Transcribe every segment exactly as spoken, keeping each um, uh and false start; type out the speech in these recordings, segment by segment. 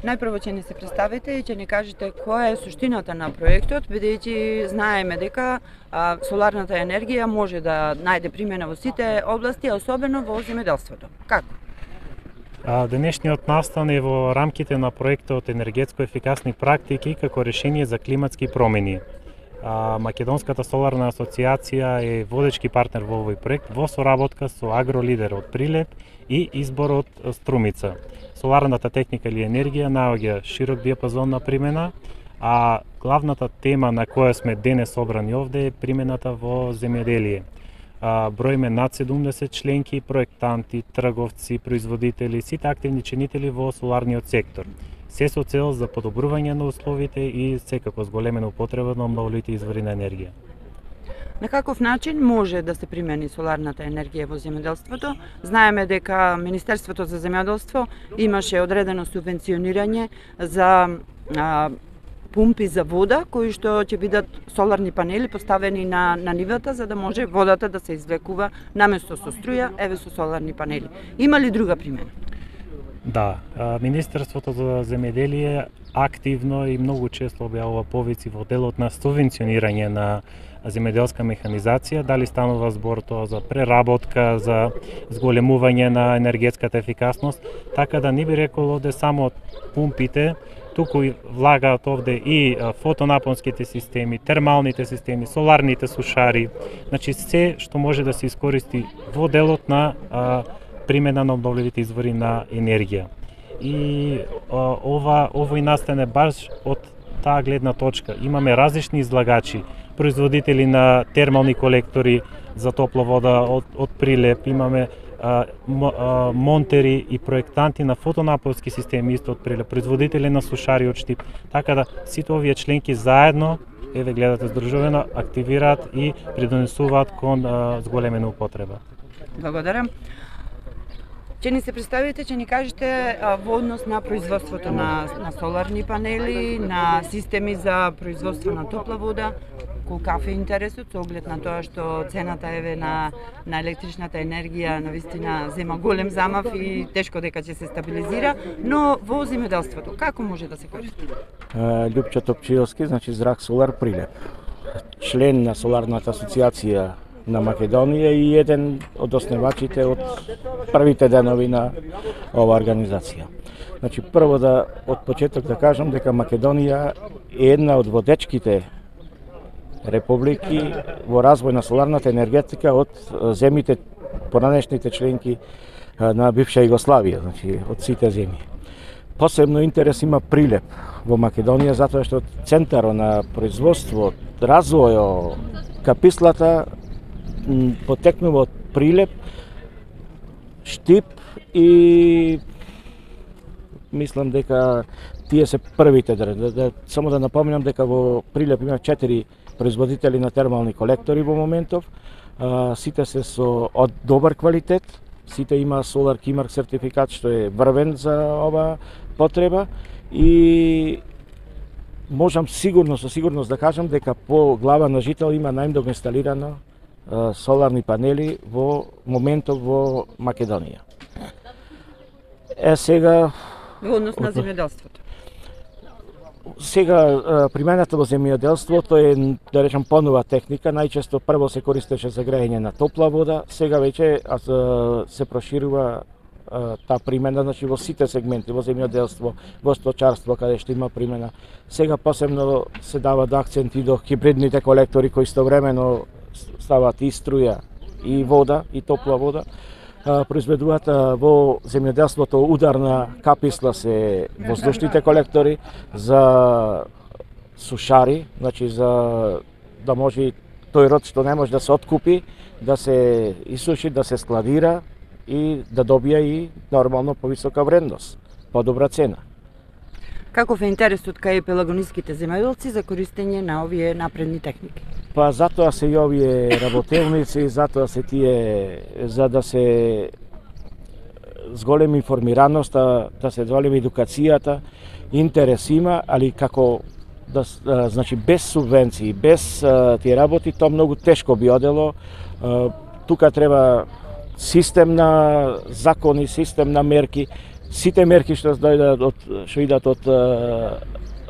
Најпрво ќе ни се представите и ќе ни кажете која е суштината на проектот, бидејќи знаеме дека а, соларната енергија може да најде примена во сите области, а особено во земјоделството. Како? А, денешниот настан е во рамките на проектот енергетско ефикасни практики како решение за климатски промени. А, Македонската соларна асоциација е водечки партнер во овој проект во соработка со Агролидер од Прилеп и Избор од Струмица. Соларната техника или енергија наоѓа широк диапазон на примена, а главната тема на која сме денес собрани овде е примената во земјоделие. Броиме над седумдесет членки, проектанти, трговци, производители, сите активни чинители во соларниот сектор. Се со цел за подобрување на условите и секако зголемена употреба на обновливите извори на енергија. На каков начин може да се примени соларната енергија во земјоделството? Знаеме дека Министерството за земјоделство имаше одредено субвенционирање за а, пумпи за вода, кои што ќе бидат соларни панели поставени на, на нивата, за да може водата да се извлекува наместо со струја, еве со соларни панели. Има ли друга примена? Да, Министерството за земјоделие активно и многу често објавува повици во делот на субвенционирање на земјоделска механизација, дали станува збор тоа за преработка, за зголемување на енергетската ефикасност, така да не би рекол овде само пумпите, туку влагаат овде и фотонапонските системи, термалните системи, соларните сушари, значи се што може да се искористи во делот на а, примена на обновливите извори на енергија. И а, ова овој настане баш од таа гледна точка. Имаме различни излагачи, производители на термални колектори за топла вода од, од Прилеп, имаме а, м, а, монтери и проектанти на фотонапонски системи исто од Прилеп, производители на сушари од Штип. Така да сите овие членки заедно, еве гледате здружувено, активираат и придонесуваат кон а, зголемена употреба. Благодарам. Ќе ни се представите, ќе ни кажете а, во однос на производството на, на соларни панели, на системи за производство на топла вода, колкав е интересот со оглед на тоа што цената еве на на електричната енергија навистина зема голем замав и тешко дека ќе се стабилизира, но во земјоделството како може да се користи? Љупчо Топчиевски, значи Зрак Солар Прилеп. Член на Соларната асоциација на Македонија и еден од основачите од првите денови на оваа организација. Значи прво да од почеток да кажам дека Македонија е една од водечките републики во развој на соларната енергетика од земјите поранешните членки на бивша Југославија, значи од сите земји. Посебно интерес има Прилеп во Македонија затоа што центарот на производство, развојот, капислата потекнува од Прилеп, Штип и мислам дека тие се првите. Да, да, само да напомнам дека во Прилеп има четири производители на термални колектори во моментов. А, сите се со од добар квалитет, сите има Solar Keymark сертификат што е врвен за оваа потреба и можам сигурно со сигурност да кажам дека по глава на жител има најмногу инсталирано соларни панели во моментов во Македонија. Е сега Во однос на земјоделството. Сега примената во земјоделството е, да речам, понова техника. Најчесто прво се користеше за грејење на топла вода, сега веќе се проширува таа примена, значи во сите сегменти, во земјоделство, во сточарство, каде што има примена. Сега посебно се дава да акцент и до хибридните колектори кои истовремено стават и струја, и вода, и топла вода. Произведуваат во земјоделството ударна каписла се воздушните колектори за сушари, значи за да може тој род што не може да се откупи, да се исуши, да се складира и да добија и нормално повисока вредност, подобра цена. Каков е интересот кај пелагониските земјоделци за користење на овие напредни техники? Па затоа се и овие работелници, затоа се тие, за да се зголеми информираноста, да се зголеми едукацијата, интерес има, али како да, значи без субвенции, без тие работи, тоа многу тешко би одело. Тука треба систем на закони, систем на мерки, Сите мерки што дојдат од што идат од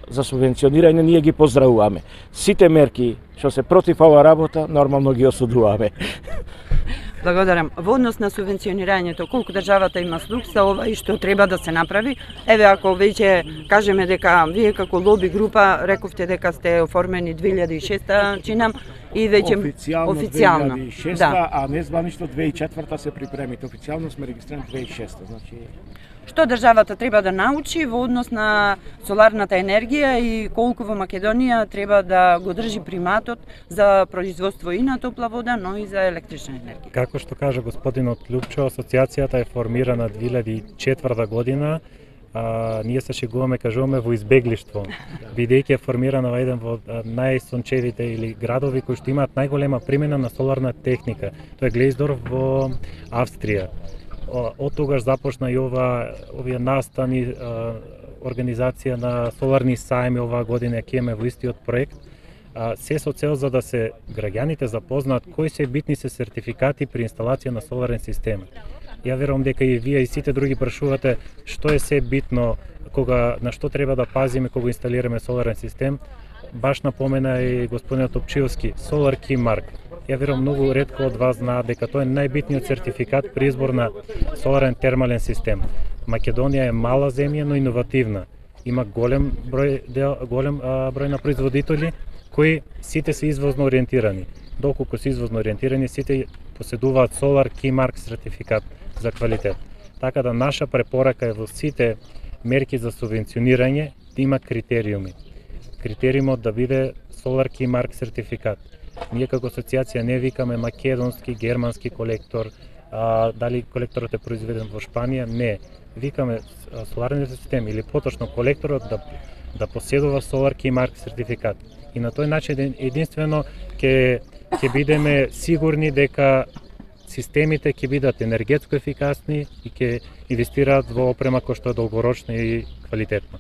за субвенционирање ние ги поздравуваме. Сите мерки што се против оваа работа нормално ги осудуваме. Благодарам. Во однос на субвенционирањето, колку државата има слух за ова и што треба да се направи? Еве, ако веќе кажеме дека вие како лоби група рековте дека сте оформени две илјади и шеста чинам и веќе официјално, официјално две илјади и шеста, да. а незванично две илјади и четврта се припремите. Официјално сме регистрирани две илјади и шеста, значи Што државата треба да научи во однос на соларната енергија и колку во Македонија треба да го држи приматот за производство и на топла вода, но и за електрична енергија? Како што кажа господинот Лупчо, асоциацијата е формирана две илјади и четврта година. А, ние се шегуваме, кажуваме во избеглиштво, бидејќи е формирана во еден од најсончевите или градови кои што имаат најголема примена на соларна техника. Тоа е Глејсдорф во Австрија. Од тогаш започна и ова овие настани организација на соларни сајми оваа година ќе имаме во истиот проект. Се со цел за да се граѓаните запознаат кои се битни се сертификати при инсталација на соларен систем. Ја верувам дека и вие и сите други прашувате што е се битно кога на што треба да пазиме кога инсталираме соларен систем. Баш напомена и господинот Топчиевски, Solar Key Mark. Ја верувам многу ретко од вас знаат дека тоа е најбитниот сертификат при избор на соларен термален систем. Македонија е мала земја, но иновативна. Има голем број дел, голем а, број на производители кои сите се извозно ориентирани. Доколку се извозно ориентирани, сите поседуваат Solar Key Mark сертификат за квалитет. Така да наша препорака е во сите мерки за субвенционирање да има критериуми. Критериумот да биде Solar Key Mark сертификат. Ние како асоциација не викаме македонски, германски колектор, а, дали колекторот е произведен во Шпанија, не. Викаме соларниот систем или поточно колекторот да, да поседува Solar Key Mark сертификат. И на тој начин единствено ќе ќе бидеме сигурни дека системите ќе бидат енергетско ефикасни и ќе инвестираат во опрема која што е долгорочна и квалитетна.